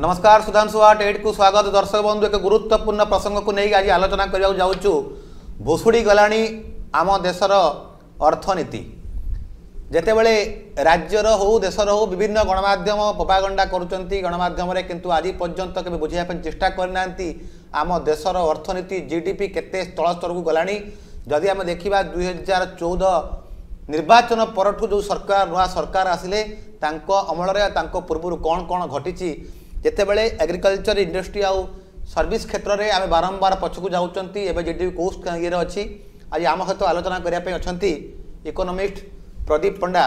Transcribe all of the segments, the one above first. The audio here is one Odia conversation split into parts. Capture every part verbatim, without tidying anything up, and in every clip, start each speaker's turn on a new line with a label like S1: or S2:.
S1: ନମସ୍କାର ସୁଧାଂଶୁ ଆଟ୍ ଏଇଟ୍କୁ ସ୍ୱାଗତ ଦର୍ଶକ ବନ୍ଧୁ ଏକ ଗୁରୁତ୍ୱପୂର୍ଣ୍ଣ ପ୍ରସଙ୍ଗକୁ ନେଇ ଆଜି ଆଲୋଚନା କରିବାକୁ ଯାଉଛୁ ଭୁଷୁଡ଼ି ଗଲାଣି ଆମ ଦେଶର ଅର୍ଥନୀତି ଯେତେବେଳେ ରାଜ୍ୟର ହେଉ ଦେଶର ହେଉ ବିଭିନ୍ନ ଗଣମାଧ୍ୟମ ପ୍ରୋପାଗଣ୍ଡା କରୁଛନ୍ତି ଗଣମାଧ୍ୟମରେ କିନ୍ତୁ ଆଜି ପର୍ଯ୍ୟନ୍ତ କେବେ ବୁଝିବା ପାଇଁ ଚେଷ୍ଟା କରିନାହାନ୍ତି ଆମ ଦେଶର ଅର୍ଥନୀତି ଜିଡିପି କେତେ ତଳ ସ୍ତରକୁ ଗଲାଣି ଯଦି ଆମେ ଦେଖିବା ଦୁଇ ହଜାର ଚଉଦ ନିର୍ବାଚନ ପରଠୁ ଯେଉଁ ସରକାର ନୂଆ ସରକାର ଆସିଲେ ତାଙ୍କ ଅମଳରେ ତାଙ୍କ ପୂର୍ବରୁ କ'ଣ କ'ଣ ଘଟିଛି ଯେତେବେଳେ ଏଗ୍ରିକଲଚର ଇଣ୍ଡଷ୍ଟ୍ରି ଆଉ ସର୍ଭିସ କ୍ଷେତ୍ରରେ ଆମେ ବାରମ୍ବାର ପଛକୁ ଯାଉଛନ୍ତି ଏବେ ଜିଡିପି କେଉଁ ଇଏରେ ଅଛି ଆଜି ଆମ ସହିତ ଆଲୋଚନା କରିବା ପାଇଁ ଅଛନ୍ତି ଇକୋନୋମିଷ୍ଟ ପ୍ରଦୀପ ପଣ୍ଡା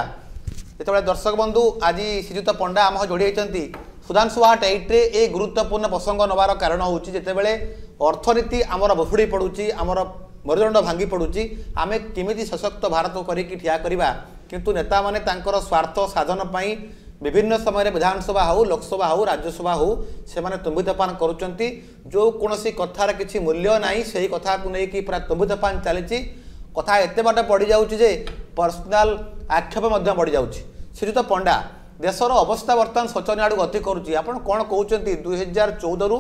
S1: ଯେତେବେଳେ ଦର୍ଶକ ବନ୍ଧୁ ଆଜି ଶ୍ରୀଯୁକ୍ତ ପଣ୍ଡା ଆମ ସହ ଯୋଡ଼ି ହୋଇଛନ୍ତି ସୁଧାଂଶୁ ଆଟ୍ ଏଇଟ୍ରେ ଏ ଗୁରୁତ୍ୱପୂର୍ଣ୍ଣ ପ୍ରସଙ୍ଗ ନେବାର କାରଣ ହେଉଛି ଯେତେବେଳେ ଅର୍ଥନୀତି ଆମର ଭୁଷୁଡ଼ି ପଡ଼ୁଛି ଆମର ମେରୁଦଣ୍ଡ ଭାଙ୍ଗି ପଡ଼ୁଛି ଆମେ କେମିତି ସଶକ୍ତ ଭାରତ କରିକି ଠିଆ କରିବା କିନ୍ତୁ ନେତାମାନେ ତାଙ୍କର ସ୍ୱାର୍ଥ ସାଧନ ପାଇଁ ବିଭିନ୍ନ ସମୟରେ ବିଧାନସଭା ହେଉ ଲୋକସଭା ହେଉ ରାଜ୍ୟସଭା ହେଉ ସେମାନେ ତୁମ୍ବିତୋଫାନ କରୁଛନ୍ତି ଯେଉଁ କୌଣସି କଥାର କିଛି ମୂଲ୍ୟ ନାହିଁ ସେହି କଥାକୁ ନେଇକି ପୁରା ତୁମ୍ବିତୋଫାନ ଚାଲିଛି କଥା ଏତେ ବାଟ ବଢ଼ିଯାଉଛି ଯେ ପର୍ସନାଲ ଆକ୍ଷେପ ମଧ୍ୟ ବଢ଼ିଯାଉଛି ଶ୍ରୀଯୁକ୍ତ ପଣ୍ଡା ଦେଶର ଅବସ୍ଥା ବର୍ତ୍ତମାନ ଶୋଚନୀୟ ଆଡ଼କୁ ଗତି କରୁଛି ଆପଣ କ'ଣ କହୁଛନ୍ତି ଦୁଇ ହଜାର ଚଉଦରୁ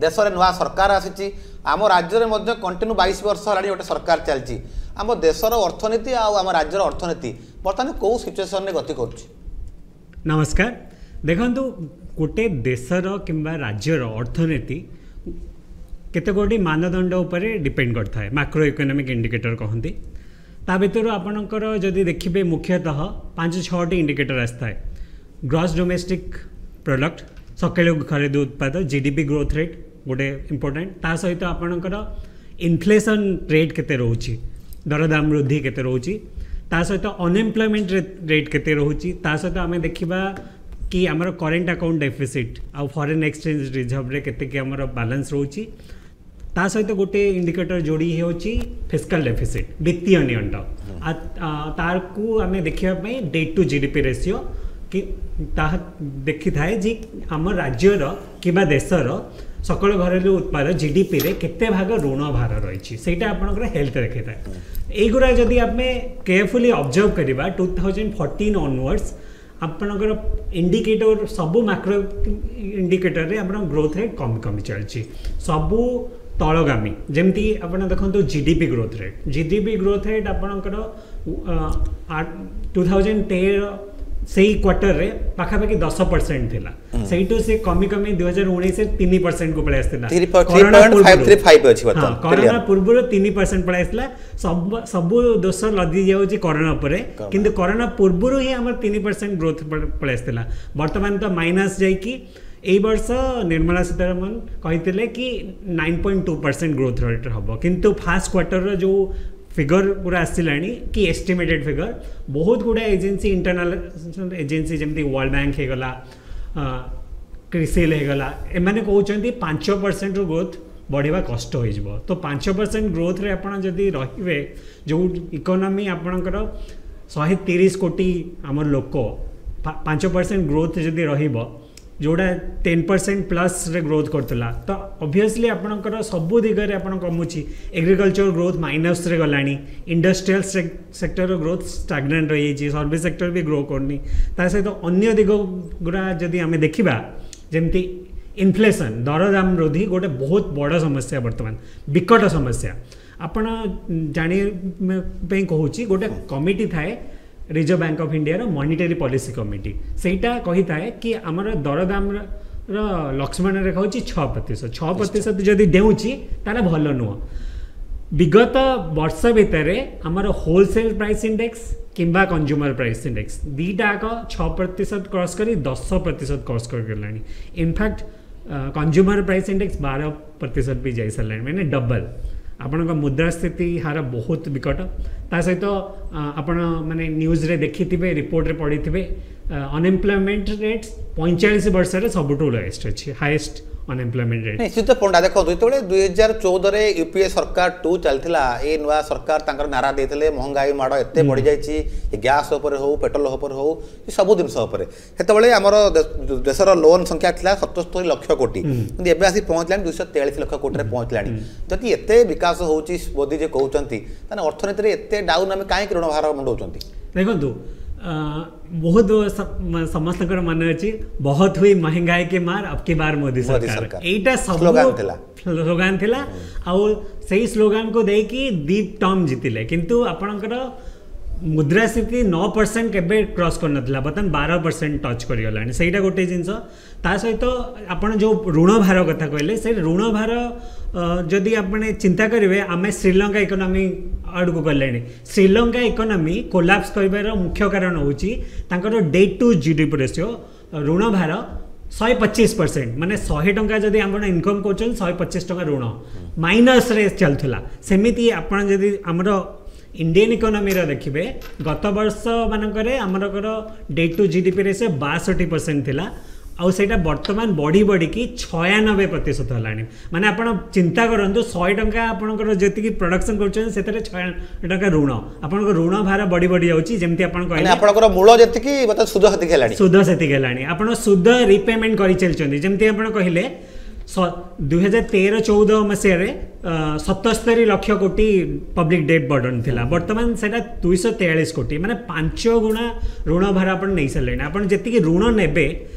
S1: ଦେଶରେ ନୂଆ ସରକାର ଆସିଛି ଆମ ରାଜ୍ୟରେ ମଧ୍ୟ କଣ୍ଟିନ୍ୟୁ ବାଇଶ ବର୍ଷ ହେଲାଣି ଗୋଟେ ସରକାର ଚାଲିଛି ଆମ ଦେଶର ଅର୍ଥନୀତି ଆଉ ଆମ ରାଜ୍ୟର ଅର୍ଥନୀତି ବର୍ତ୍ତମାନ କେଉଁ ସିଚୁଏସନରେ ଗତି କରୁଛି
S2: ନମସ୍କାର ଦେଖନ୍ତୁ ଗୋଟେ ଦେଶର କିମ୍ବା ରାଜ୍ୟର ଅର୍ଥନୀତି କେତେ ଗୋଟି ମାନଦଣ୍ଡ ଉପରେ ଡିପେଣ୍ଡ କରିଥାଏ ମାକ୍ରୋ ଇକୋନୋମିକ୍ ଇଣ୍ଡିକେଟର କହନ୍ତି ତା ଭିତରୁ ଆପଣଙ୍କର ଯଦି ଦେଖିବେ ମୁଖ୍ୟତଃ ପାଞ୍ଚ ଛଅଟି ଇଣ୍ଡିକେଟର ଆସିଥାଏ ଗ୍ରସ୍ ଡୋମେଷ୍ଟିକ୍ ପ୍ରଡ଼କ୍ଟ ସକଳ ଘରେଲୁ ଉତ୍ପାଦ G D P growth rate ଗୋଟେ ଇମ୍ପୋର୍ଟାଣ୍ଟ ତା ସହିତ ଆପଣଙ୍କର ଇନଫ୍ଲେସନ୍ ରେଟ୍ କେତେ ରହୁଛି ଦରଦାମ ବୃଦ୍ଧି କେତେ ରହୁଛି ତା ସହିତ ଅନଏମ୍ପ୍ଲୟମେଣ୍ଟ ରେଟ୍ କେତେ ରହୁଛି ତା ସହିତ ଆମେ ଦେଖିବା କି ଆମର କରେଣ୍ଟ ଆକାଉଣ୍ଟ ଡେଫିସିଟ୍ ଆଉ ଫରେନ୍ ଏକ୍ସଚେଞ୍ଜ ରିଜର୍ଭରେ କେତିକି ଆମର ବାଲାନ୍ସ ରହୁଛି ତା ସହିତ ଗୋଟେ ଇଣ୍ଡିକେଟର ଯୋଡ଼ି ହେଉଛି ଫିସ୍କାଲ ଡେଫିସିଟ୍ ବିତ୍ତୀୟ ନିଅଣ୍ଟ ତାକୁ ଆମେ ଦେଖିବା ପାଇଁ date two G D P ratio କି ତାହା ଦେଖିଥାଏ ଯେ ଆମ ରାଜ୍ୟର କିମ୍ବା ଦେଶର ସକଳ ଘରେଲୁ ଉତ୍ପାଦ ଜିଡିପିରେ କେତେ ଭାଗ ଋଣ ଭାର ରହିଛି ସେଇଟା ଆପଣଙ୍କର ହେଲ୍ଥ ଦେଖେଇଥାଏ ଏଇଗୁଡ଼ା ଯଦି ଆମେ କେୟାରଫୁଲି ଅବଜର୍ଭ କରିବା ଟୁ ଥାଉଜେଣ୍ଡ ଫର୍ଟିନ୍ ଅନୱାର୍ଡ଼ସ୍ ଆପଣଙ୍କର ଇଣ୍ଡିକେଟର ସବୁ ମାକ୍ରୋ ଇଣ୍ଡିକେଟରରେ ଆପଣଙ୍କ ଗ୍ରୋଥ୍ ରେଟ୍ କମି କମି ଚାଲିଛି ସବୁ ତଳଗାମୀ ଯେମିତି ଆପଣ ଦେଖନ୍ତୁ G D P growth rate G D P growth rate ଆପଣଙ୍କର ଟୁ ଥାଉଜେଣ୍ଡ ତେର ସେଇ କ୍ୱାର୍ଟରରେ ପାଖାପାଖି ଦଶ ପରସେଣ୍ଟ ଥିଲା ସେଇଠୁ ସେ କମି କମି ଦୁଇ ହଜାର ଉଣେଇଶରେ ତିନି ପରସେଣ୍ଟକୁ ପଳେଇ ଆସିଥିଲା କରୋନା ପୂର୍ବରୁ ତିନି ପରସେଣ୍ଟ ପଳେଇ ଆସିଥିଲା ସବୁ ସବୁ ଦୋଷ ଲଦି ଯାଉଛି କରୋନା ଉପରେ କିନ୍ତୁ କରୋନା ପୂର୍ବରୁ ହିଁ ଆମର ତିନି ପରସେଣ୍ଟ ଗ୍ରୋଥ ପଳେଇ ଆସିଥିଲା ବର୍ତ୍ତମାନ ତ ମାଇନସ୍ ଯାଇକି ଏଇ ବର୍ଷ ନିର୍ମଳା ସୀତାରମଣ କହିଥିଲେ କି nine point two percent growth rate ହେବ କିନ୍ତୁ ଫାର୍ଷ୍ଟ କ୍ୱାର୍ଟରର ଯେଉଁ ଫିଗର ପୁରା ଆସିଲାଣି କି ଏଷ୍ଟିମେଟେଡ୍ ଫିଗର ବହୁତ ଗୁଡ଼ାଏ ଏଜେନ୍ସି ଇଣ୍ଟରନ୍ୟାସନାଲ ଏଜେନ୍ସି ଯେମିତି ୱାର୍ଲଡ ବ୍ୟାଙ୍କ ହେଇଗଲା କ୍ରିସିଲ୍ ହେଇଗଲା ଏମାନେ କହୁଛନ୍ତି ପାଞ୍ଚ ପରସେଣ୍ଟରୁ ଗ୍ରୋଥ୍ ବଢ଼ିବା କଷ୍ଟ ହୋଇଯିବ ତ ପାଞ୍ଚ ପରସେଣ୍ଟ ଗ୍ରୋଥରେ ଆପଣ ଯଦି ରହିବେ ଯେଉଁ ଇକୋନୋମି ଆପଣଙ୍କର ଶହେ ତିରିଶ କୋଟି ଆମର ଲୋକ ପାଞ୍ଚ ପରସେଣ୍ଟ ଗ୍ରୋଥ୍ ଯଦି ରହିବ ଯେଉଁଟା ଟେନ୍ ପରସେଣ୍ଟ ପ୍ଲସ୍ରେ ଗ୍ରୋଥ୍ କରୁଥିଲା ତ ଅବଭିୟସଲି ଆପଣଙ୍କର ସବୁ ଦିଗରେ ଆପଣ କମୁଛି ଏଗ୍ରିକଲଚର ଗ୍ରୋଥ୍ ମାଇନସ୍ରେ ଗଲାଣି ଇଣ୍ଡଷ୍ଟ୍ରିଆଲ ସେକ୍ଟରର ଗ୍ରୋଥ୍ ଷ୍ଟାଗନାଣ୍ଟ ରହିଯାଇଛି ସର୍ଭିସ୍ ସେକ୍ଟର ବି ଗ୍ରୋ କରୁନି ତା ସହିତ ଅନ୍ୟ ଦିଗ ଗୁଡ଼ା ଯଦି ଆମେ ଦେଖିବା ଯେମିତି ଇନଫ୍ଲେସନ୍ ଦରଦାମ ବୃଦ୍ଧି ଗୋଟେ ବହୁତ ବଡ଼ ସମସ୍ୟା ବର୍ତ୍ତମାନ ବିକଟ ସମସ୍ୟା ଆପଣ ଜାଣିବା ପାଇଁ କହୁଛି ଗୋଟେ କମିଟି ଥାଏ ରିଜର୍ଭ ବ୍ୟାଙ୍କ ଅଫ୍ ଇଣ୍ଡିଆର ମନିଟାରୀ ପଲିସି କମିଟି ସେଇଟା କହିଥାଏ କି ଆମର ଦରଦାମର ଲକ୍ଷ୍ମଣ ରେଖା ହେଉଛି ଛଅ ପ୍ରତିଶତ ଛଅ ପ୍ରତିଶତ ଯଦି ଡେଉଁଛି ତାହେଲେ ଭଲ ନୁହଁ ବିଗତ ବର୍ଷ ଭିତରେ ଆମର ହୋଲସେଲ୍ ପ୍ରାଇସ୍ ଇଣ୍ଡେକ୍ସ କିମ୍ବା କନଜ୍ୟୁମର ପ୍ରାଇସ୍ ଇଣ୍ଡେକ୍ସ ଦୁଇଟା ଯାକ ଛଅ ପ୍ରତିଶତ କ୍ରସ୍ କରି ଦଶ ପ୍ରତିଶତ cross କରିଗଲାଣି in fact consumer price index ବାର ପ୍ରତିଶତ ବି ଯାଇସାରିଲାଣି ମାନେ ଡବଲ୍ ଆପଣଙ୍କ ମୁଦ୍ରାସ୍ଫୀତି ହାର ବହୁତ ବିକଟ ତା ସହିତ ଆପଣ ମାନେ ନ୍ୟୁଜ୍ରେ ଦେଖିଥିବେ ରିପୋର୍ଟରେ ପଢ଼ିଥିବେ ଅନଏମ୍ପ୍ଲୟମେଣ୍ଟ ରେଟ୍ ପଇଁଚାଳିଶ ବର୍ଷରେ ସବୁଠୁ ଲୋଏଷ୍ଟ ଅଛି ହାଏଷ୍ଟ ଅନଏମ୍ପ୍ଲୟମେଣ୍ଟ ରେଟ୍
S1: ନିଶ୍ଚିତ ପଣ୍ଡା ଦେଖନ୍ତୁ ଯେତେବେଳେ ଦୁଇ ହଜାର ଚଉଦରେ ୟୁପିଏ ସରକାର ଟୁ ଚାଲିଥିଲା ଏ ନୂଆ ସରକାର ତାଙ୍କର ନାରା ଦେଇଥିଲେ ମହଙ୍ଗାଇ ମାଡ଼ ଏତେ ବଢ଼ିଯାଇଛି ଗ୍ୟାସ୍ ଉପରେ ହଉ ପେଟ୍ରୋଲ ଉପରେ ହଉ ସବୁ ଜିନିଷ ଉପରେ ସେତେବେଳେ ଆମର ଦେଶର ଲୋନ୍ ସଂଖ୍ୟା ଥିଲା ସତସ୍ତରୀ ଲକ୍ଷ କୋଟି କିନ୍ତୁ ଏବେ ଆସି ପହଞ୍ଚିଲାଣି ଦୁଇଶହ ତେୟାଳିଶ ଲକ୍ଷ କୋଟିରେ ପହଞ୍ଚିଲାଣି ଯଦି ଏତେ ବିକାଶ ହେଉଛି ମୋଦି ଯେ କହୁଛନ୍ତି ତାହେଲେ ଅର୍ଥନୀତିରେ ଏତେ ଡାଉନ୍ ଆମେ କାହିଁକି ଋଣ ଭାର ମୁଣ୍ଡଉଛନ୍ତି
S2: ଦେଖନ୍ତୁ ବହୁତ ସମସ୍ତଙ୍କର ମନେ ଅଛି बहुत हुई महंगाई की मार अब की बार मोदी सरकार ଏଇଟା ସବୁ ସ୍ଲୋଗାନ ଥିଲା ଆଉ ସେଇ ସ୍ଲୋଗାନକୁ ଦେଇକି ଦି ଟର୍ମ ଜିତିଲେ କିନ୍ତୁ ଆପଣଙ୍କର ମୁଦ୍ରାସ୍ଫୀତି ନଅ ପରସେଣ୍ଟ କେବେ କ୍ରସ୍ କରିନଥିଲା ବର୍ତ୍ତମାନ ବାର ପରସେଣ୍ଟ ଟଚ୍ କରିଗଲାଣି ସେଇଟା ଗୋଟେ ଜିନିଷ ତା ସହିତ ଆପଣ ଯେଉଁ ଋଣ ଭାର କଥା କହିଲେ ସେ ଋଣ ଭାର ଯଦି ଆପଣ ଚିନ୍ତା କରିବେ ଆମେ ଶ୍ରୀଲଙ୍କା ଇକୋନୋମି ଆଡ଼କୁ ଗଲେଣି ଶ୍ରୀଲଙ୍କା ଇକୋନୋମି କୋଲାପ୍ସ କରିବାର ମୁଖ୍ୟ କାରଣ ହେଉଛି ତାଙ୍କର date two G D P ratio ଋଣ ଭାର ଶହେ ପଚିଶ ପରସେଣ୍ଟ ମାନେ ଶହେ ଟଙ୍କା ଯଦି ଆପଣ ଇନକମ୍ କରୁଛନ୍ତି ଶହେ ପଚିଶ ଟଙ୍କା ଋଣ ମାଇନସ୍ରେ ଚାଲୁଥିଲା ସେମିତି ଆପଣ ଯଦି ଆମର ଇଣ୍ଡିଆନ୍ ଇକୋନୋମିର ଦେଖିବେ ଗତ ବର୍ଷ ମାନଙ୍କରେ ଆମରଙ୍କର date two G D P ratio ବାଷଠି ପରସେଣ୍ଟ ଥିଲା ଆଉ ସେଇଟା ବର୍ତ୍ତମାନ ବଢ଼ି ବଢ଼ିକି ଛୟାନବେ ପ୍ରତିଶତ ହେଲାଣି ମାନେ ଆପଣ ଚିନ୍ତା କରନ୍ତୁ ଶହେ ଟଙ୍କା ଆପଣଙ୍କର ଯେତିକି ପ୍ରଡକ୍ସନ୍ କରୁଛନ୍ତି ସେଥିରେ ଛୟାନବେ ଟଙ୍କା ଋଣ ଆପଣଙ୍କ ଋଣ ଭାର ବଢ଼ି ବଢ଼ି ଯାଉଛି ଯେମିତି ଆପଣ କହିଲେ
S1: ଆପଣଙ୍କର ମୂଳ ଯେତିକି ବର୍ତ୍ତମାନ ସୁଧ ସେତିକି ହେଲାଣି
S2: ସୁଧ ସେତିକି ହେଲାଣି ଆପଣ ସୁଧ ରିପେମେଣ୍ଟ କରି ଚାଲିଛନ୍ତି ଯେମିତି ଆପଣ କହିଲେ ଦୁଇ ହଜାର ତେର ଚଉଦ ମସିହାରେ ସତସ୍ତରୀ ଲକ୍ଷ କୋଟି ପବ୍ଲିକ ଡେଟ୍ ବର୍ଡନ୍ ଥିଲା ବର୍ତ୍ତମାନ ସେଇଟା ଦୁଇଶହ ତେୟାଳିଶ କୋଟି ମାନେ ପାଞ୍ଚ ଗୁଣା ଋଣ ଭାର ଆପଣ ନେଇସାରିଲେଣି ଆପଣ ଯେତିକି ଋଣ ନେବେ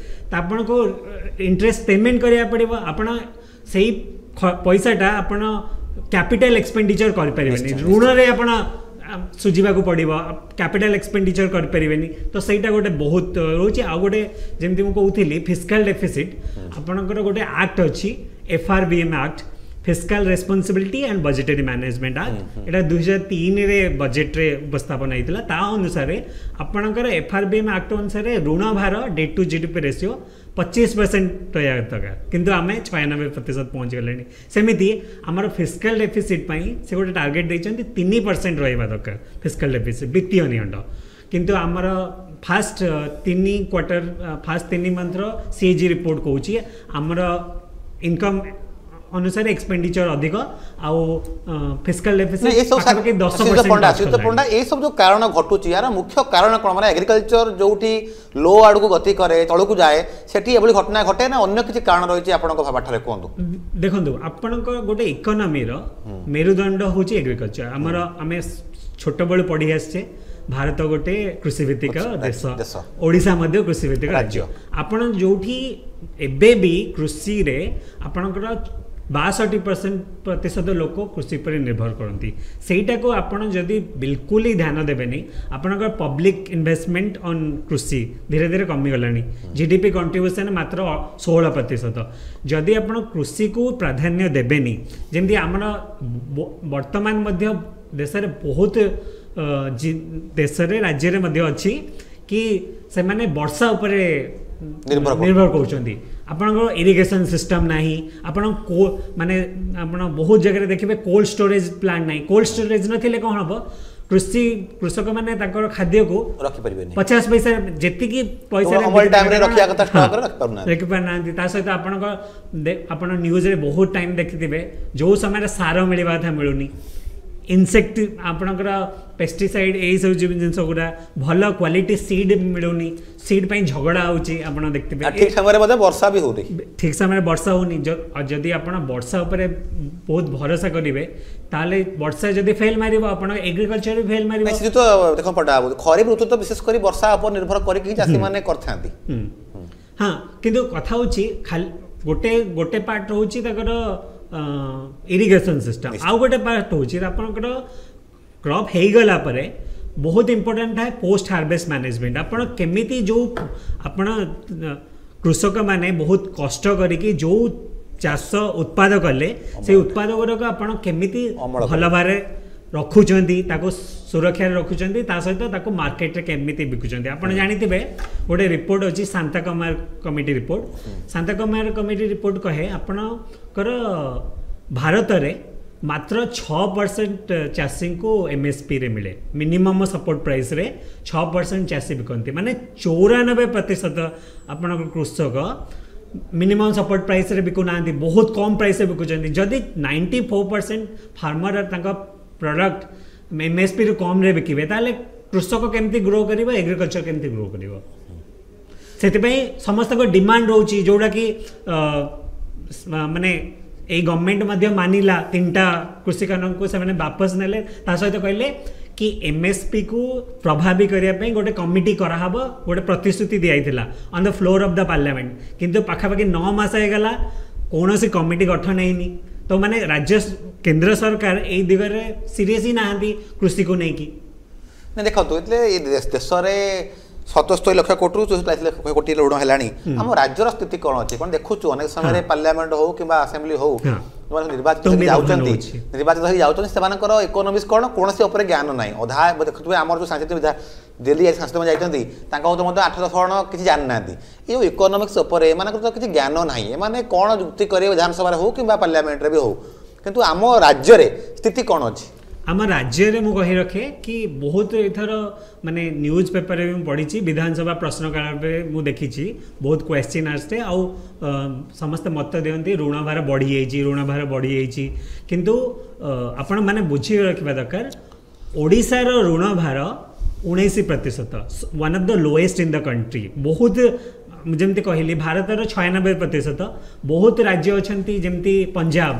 S2: ତ ଆପଣଙ୍କୁ ଇଣ୍ଟରେଷ୍ଟ ପେମେଣ୍ଟ କରିବାକୁ ପଡ଼ିବ ଆପଣ ସେଇ ପଇସାଟା ଆପଣ କ୍ୟାପିଟାଲ ଏକ୍ସପେଣ୍ଡିଚର କରିପାରିବେନି ଋଣରେ ଆପଣ ସୁଝିବାକୁ ପଡ଼ିବ କ୍ୟାପିଟାଲ ଏକ୍ସପେଣ୍ଡିଚର କରିପାରିବେନି ତ ସେଇଟା ଗୋଟେ ବହୁତ ରହୁଛି ଆଉ ଗୋଟେ ଯେମିତି ମୁଁ କହୁଥିଲି ଫିସ୍କାଲ ଡେଫିସିଟ୍ ଆପଣଙ୍କର ଗୋଟେ ଆକ୍ଟ ଅଛି F R B M Act Fiscal Responsibility and Budgetary Management Act ଏଇଟା ଦୁଇ ହଜାର ତିନିରେ ବଜେଟ୍ରେ ଉପସ୍ଥାପନ ହେଇଥିଲା ତା ଅନୁସାରେ ଆପଣଙ୍କର F R B M act ଅନୁସାରେ ଋଣ ଭାର date two G D P ratio ପଚିଶ ପରସେଣ୍ଟ ରହିବା ଦରକାର କିନ୍ତୁ ଆମେ ଛୟାନବେ ପ୍ରତିଶତ ପହଞ୍ଚିଗଲେଣି ସେମିତି ଆମର ଫିସ୍କାଲ ଡେଫିସିଟ୍ ପାଇଁ ସେ ଗୋଟେ ଟାର୍ଗେଟ୍ ଦେଇଛନ୍ତି ତିନି ପରସେଣ୍ଟ ରହିବା ଦରକାର ଫିସ୍କାଲ ଡେଫିସିଟ୍ ବିତ୍ତୀୟ ନିଅଣ୍ଟ କିନ୍ତୁ ଆମର ଫାଷ୍ଟ ତିନି କ୍ୱାର୍ଟର ଫାଷ୍ଟ ତିନି ମନ୍ଥର ସି ଏ ଜି ରିପୋର୍ଟ କହୁଛି ଆମର ଇନକମ୍ ଅନୁସାରେ ଏକ୍ସପେଣ୍ଡିଚର ଅଧିକ ଆଉ ଫିସ୍କାଲ ଡେଫିସିଟ୍ ପାଖାପାଖି ଦଶ
S1: ପଣ୍ଡା ଶ୍ରୀଯୁକ୍ତ ପଣ୍ଡା ଏଇସବୁ ଯେଉଁ କାରଣ ଘଟୁଛି ଏହାର ମୁଖ୍ୟ କାରଣ କ'ଣ ମାନେ ଏଗ୍ରିକଲଚର ଯେଉଁଠି ଲୋ ଆଡ଼କୁ ଗତି କରେ ତଳକୁ ଯାଏ ସେଠି ଏଭଳି ଘଟଣା ଘଟେ ନା ଅନ୍ୟ କିଛି କାରଣ ରହିଛି ଆପଣଙ୍କ ପାଠରେ କୁହନ୍ତୁ
S2: ଦେଖନ୍ତୁ ଆପଣଙ୍କ ଗୋଟେ ଇକୋନୋମିର ମେରୁଦଣ୍ଡ ହେଉଛି ଏଗ୍ରିକଲଚର ଆମର ଆମେ ଛୋଟବେଳୁ ପଢ଼ି ଆସିଛେ ଭାରତ ଗୋଟେ କୃଷିଭିତ୍ତିକ ଦେଶ ଓଡ଼ିଶା ମଧ୍ୟ କୃଷିଭିତ୍ତିକ ରାଜ୍ୟ ଆପଣ ଯେଉଁଠି ଏବେ ବି କୃଷିରେ ଆପଣଙ୍କର ବାଷଠି ପରସେଣ୍ଟ ପ୍ରତିଶତ ଲୋକ କୃଷି ଉପରେ ନିର୍ଭର କରନ୍ତି ସେଇଟାକୁ ଆପଣ ଯଦି ବିଲକୁଲ ହିଁ ଧ୍ୟାନ ଦେବେନି ଆପଣଙ୍କର ପବ୍ଲିକ ଇନଭେଷ୍ଟମେଣ୍ଟ ଅନ୍ କୃଷି ଧୀରେ ଧୀରେ କମିଗଲାଣି ଜି ଡି ପି କଣ୍ଟ୍ରିବ୍ୟୁସନ୍ ମାତ୍ର ଷୋହଳ ପ୍ରତିଶତ ଯଦି ଆପଣ କୃଷିକୁ ପ୍ରାଧାନ୍ୟ ଦେବେନି ଯେମିତି ଆମର ବର୍ତ୍ତମାନ ମଧ୍ୟ ଦେଶରେ ବହୁତ ଦେଶରେ ରାଜ୍ୟରେ ମଧ୍ୟ ଅଛି କି ସେମାନେ ବର୍ଷା ଉପରେ ନିର୍ଭର କରୁଛନ୍ତି ଆପଣଙ୍କର ଇରିଗେସନ୍ ସିଷ୍ଟମ୍ ନାହିଁ ଆପଣ କୋ ମାନେ ଆପଣ ବହୁତ ଜାଗାରେ ଦେଖିବେ କୋଲ୍ଡ ଷ୍ଟୋରେଜ୍ ପ୍ଲାଣ୍ଟ ନାହିଁ କୋଲ୍ଡ ଷ୍ଟୋରେଜ୍ ନଥିଲେ କ'ଣ ହେବ କୃଷି କୃଷକମାନେ ତାଙ୍କର ଖାଦ୍ୟକୁ
S1: ରଖିପାରିବେନି
S2: ପଚାଶ ପଇସା ଯେତିକି ପଇସା ରଖିପାରୁନାହାନ୍ତି ତା ସହିତ ଆପଣଙ୍କ ଆପଣ ନ୍ୟୁଜ୍ରେ ବହୁତ ଟାଇମ୍ ଦେଖିଥିବେ ଯେଉଁ ସମୟରେ ସାର ମିଳିବା କଥା ମିଳୁନି ଇନସେକ୍ଟ ଆପଣଙ୍କର ପେଷ୍ଟିସାଇଡ୍ ଏଇସବୁ ଜିନିଷ ଗୁଡ଼ା ଭଲ କ୍ୱାଲିଟି ସିଡ୍ ମିଳୁନି ସିଡ୍ ପାଇଁ ଝଗଡ଼ା ହେଉଛି ଆପଣ ଦେଖିଥିବେ
S1: ଠିକ୍ ସମୟରେ ମଧ୍ୟ ବର୍ଷା ବି ହେଉନି
S2: ଠିକ୍ ସମୟରେ ବର୍ଷା ହେଉନି ଯଦି ଆପଣ ବର୍ଷା ଉପରେ ବହୁତ ଭରସା କରିବେ ତାହେଲେ ବର୍ଷା ଯଦି ଫେଲ୍ ମାରିବ ଆପଣ ଏଗ୍ରିକଲଚର ବି ଫେଲ୍ ମାରିବ
S1: ତ ଦେଖ ପଟା ଖରିଫ ଋତୁ ତ ବିଶେଷ କରି ବର୍ଷା ଉପରେ ନିର୍ଭର କରିକି ଚାଷୀମାନେ କରିଥାନ୍ତି
S2: ହଁ କିନ୍ତୁ କଥା ହେଉଛି ଖାଲି ଗୋଟେ ଗୋଟେ ପାର୍ଟ ରହୁଛି ତାଙ୍କର ଇରିଗେସନ୍ ସିଷ୍ଟମ୍ ଆଉ ଗୋଟେ ପାର୍ଟ ହେଉଛି ଆପଣଙ୍କର କ୍ରପ୍ ହେଇଗଲା ପରେ ବହୁତ ଇମ୍ପୋର୍ଟାଣ୍ଟ ଥାଏ ପୋଷ୍ଟ ହାର୍ଭେଷ୍ଟ ମ୍ୟାନେଜମେଣ୍ଟ ଆପଣ କେମିତି ଯେଉଁ ଆପଣ କୃଷକମାନେ ବହୁତ କଷ୍ଟ କରିକି ଯେଉଁ ଚାଷ ଉତ୍ପାଦ କଲେ ସେଇ ଉତ୍ପାଦ ଗୁଡ଼ାକ ଆପଣ କେମିତି ଭଲ ଭାବରେ ରଖୁଛନ୍ତି ତାକୁ ସୁରକ୍ଷାରେ ରଖୁଛନ୍ତି ତା ସହିତ ତାକୁ ମାର୍କେଟରେ କେମିତି ବିକୁଛନ୍ତି ଆପଣ ଜାଣିଥିବେ ଗୋଟେ ରିପୋର୍ଟ ଅଛି Shanta Kumar committee report Shanta Kumar committee report କହେ ଆପଣଙ୍କର ଭାରତରେ ମାତ୍ର ଛଅ ପରସେଣ୍ଟ ଚାଷୀଙ୍କୁ ଏମ୍ଏସ୍ପିରେ ମିଳେ ମିନିମମ୍ ସପୋର୍ଟ ପ୍ରାଇସ୍ରେ ଛଅ ପରସେଣ୍ଟ ଚାଷୀ ବିକନ୍ତି ମାନେ ଚଉରାନବେ ପ୍ରତିଶତ ଆପଣଙ୍କ କୃଷକ ମିନିମମ୍ ସପୋର୍ଟ ପ୍ରାଇସ୍ରେ ବିକୁନାହାନ୍ତି ବହୁତ କମ୍ ପ୍ରାଇସ୍ରେ ବିକୁଛନ୍ତି ଯଦି ନାଇଣ୍ଟି ଫୋର୍ ପରସେଣ୍ଟ ଫାର୍ମର ତାଙ୍କ ପ୍ରଡ଼କ୍ଟ ଏମ୍ଏସ୍ପିରୁ କମ୍ରେ ବିକିବେ ତାହେଲେ କୃଷକ କେମିତି ଗ୍ରୋ କରିବ ଏଗ୍ରିକଲଚର କେମିତି ଗ୍ରୋ କରିବ ସେଥିପାଇଁ ସମସ୍ତଙ୍କ ଡିମାଣ୍ଡ ରହୁଛି ଯେଉଁଟାକି ମାନେ ଏଇ ଗଭର୍ଣ୍ଣମେଣ୍ଟ ମଧ୍ୟ ମାନିଲା ତିନିଟା କୃଷି କାନୁନକୁ ସେମାନେ ବାପସ ନେଲେ ତା ସହିତ କହିଲେ କି ଏମ୍ଏସ୍ପି କୁ ପ୍ରଭାବୀ କରିବା ପାଇଁ ଗୋଟେ କମିଟି କରାହବ ଗୋଟେ ପ୍ରତିଶ୍ରୁତି ଦିଆଯାଇଥିଲା on the floor of the parliament କିନ୍ତୁ ପାଖାପାଖି ନଅ ମାସ ହେଇଗଲା କୌଣସି କମିଟି ଗଠନ ହେଇନି ତ ମାନେ ରାଜ୍ୟ କେନ୍ଦ୍ର ସରକାର ଏଇ ଦିଗରେ ସିରିୟସ୍ ହିଁ ନାହାନ୍ତି କୃଷିକୁ ନେଇକି
S1: ନା ଦେଖନ୍ତୁ ଏଥିରେ ଏ ଦେଶରେ ସତସ୍ତରୀ ଲକ୍ଷ କୋଟିରୁ ଚଉଷଠି ଲକ୍ଷ କୋଟି ଋଣ ହେଲାଣି ଆମ ରାଜ୍ୟର ସ୍ଥିତି କ'ଣ ଅଛି କ'ଣ ଦେଖୁଛୁ ଅନେକ ସମୟରେ ପାର୍ଲାମେଣ୍ଟ ହଉ କିମ୍ବା ଆସେମ୍ବଲି ହଉ ଯେଉଁମାନେ ନିର୍ବାଚିତ ହେଇକି ଯାଉଛନ୍ତି ନିର୍ବାଚିତ ହେଇକି ଯାଉଛନ୍ତି ସେମାନଙ୍କର ଇକୋନୋମିକ୍ସ କ'ଣ କୌଣସି ଉପରେ ଜ୍ଞାନ ନାହିଁ ଅଧା ଦେଖୁଥିବେ ଆମର ଯେଉଁ ସାଂସଦ ବିଧା ଦିଲ୍ଲୀ ସାଂସଦମାନେ ଯାଇଛନ୍ତି ତାଙ୍କ ମଧ୍ୟ ଆଠ ଦଶ ଜଣ କିଛି ଜାଣିନାହାନ୍ତି ଏ ଯେଉଁ ଇକୋନୋମିକ୍ସ ଉପରେ ଏମାନଙ୍କର ତ କିଛି ଜ୍ଞାନ ନାହିଁ ଏମାନେ କ'ଣ ଯୁକ୍ତି କରିବେ ବିଧାନସଭାରେ ହଉ କିମ୍ବା ପାର୍ଲାମେଣ୍ଟରେ ବି ହଉ କିନ୍ତୁ ଆମ ରାଜ୍ୟରେ ସ୍ଥିତି କ'ଣ ଅଛି
S2: ଆମ ରାଜ୍ୟରେ ମୁଁ କହି ରଖେ କି ବହୁତ ଏଥର ମାନେ ନ୍ୟୁଜ୍ ପେପରରେ ବି ମୁଁ ପଢ଼ିଛି ବିଧାନସଭା ପ୍ରଶ୍ନକାଳରେ ମୁଁ ଦେଖିଛି ବହୁତ କ୍ୱେଶ୍ଚିନ୍ ଆସେ ଆଉ ସମସ୍ତେ ମତ ଦିଅନ୍ତି ଋଣ ଭାର ବଢ଼ିଯାଇଛି ଋଣ ଭାର ବଢ଼ିଯାଇଛି କିନ୍ତୁ ଆପଣ ମାନେ ବୁଝି ରଖିବା ଦରକାର ଓଡ଼ିଶାର ଋଣ ଭାର ଉଣେଇଶ ପ୍ରତିଶତ one of the lowest in the country ବହୁତ ମୁଁ ଯେମିତି କହିଲି ଭାରତର ଛୟାନବେ ପ୍ରତିଶତ ବହୁତ ରାଜ୍ୟ ଅଛନ୍ତି ଯେମିତି ପଞ୍ଜାବ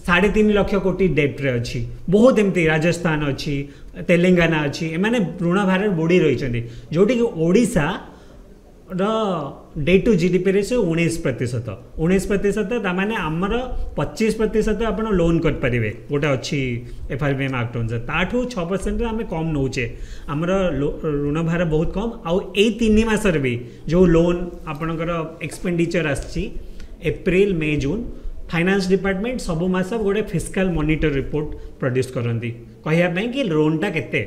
S2: ସାଢ଼େ ତିନି ଲକ୍ଷ କୋଟି ଡେଟ୍ରେ ଅଛି ବହୁତ ଏମିତି ରାଜସ୍ଥାନ ଅଛି ତେଲେଙ୍ଗାନା ଅଛି ଏମାନେ ଋଣ ଭାରରେ ବୁଡ଼ି ରହିଛନ୍ତି ଯେଉଁଠିକି ଓଡ଼ିଶା ର date to G D P ratio ଉଣେଇଶ ପ୍ରତିଶତ ଉଣେଇଶ ପ୍ରତିଶତ ତାମାନେ ଆମର ପଚିଶ ପ୍ରତିଶତ ଆପଣ ଲୋନ୍ କରିପାରିବେ ଗୋଟେ ଅଛି F R B M act ଅନୁସାରେ ତାଠୁ ଛଅ ପରସେଣ୍ଟରେ ଆମେ କମ୍ ନେଉଛେ ଆମର ଋଣ ଭାର ବହୁତ କମ୍ ଆଉ ଏଇ ତିନି ମାସରେ ବି ଯେଉଁ ଲୋନ୍ ଆପଣଙ୍କର ଏକ୍ସପେଣ୍ଡିଚର ଆସିଛି April May June finance department ସବୁ ମାସ ଗୋଟେ ଫିସ୍କାଲ ମନିଟର ରିପୋର୍ଟ ପ୍ରଡ୍ୟୁସ୍ କରନ୍ତି କହିବା ପାଇଁ କି ଲୋନ୍ଟା କେତେ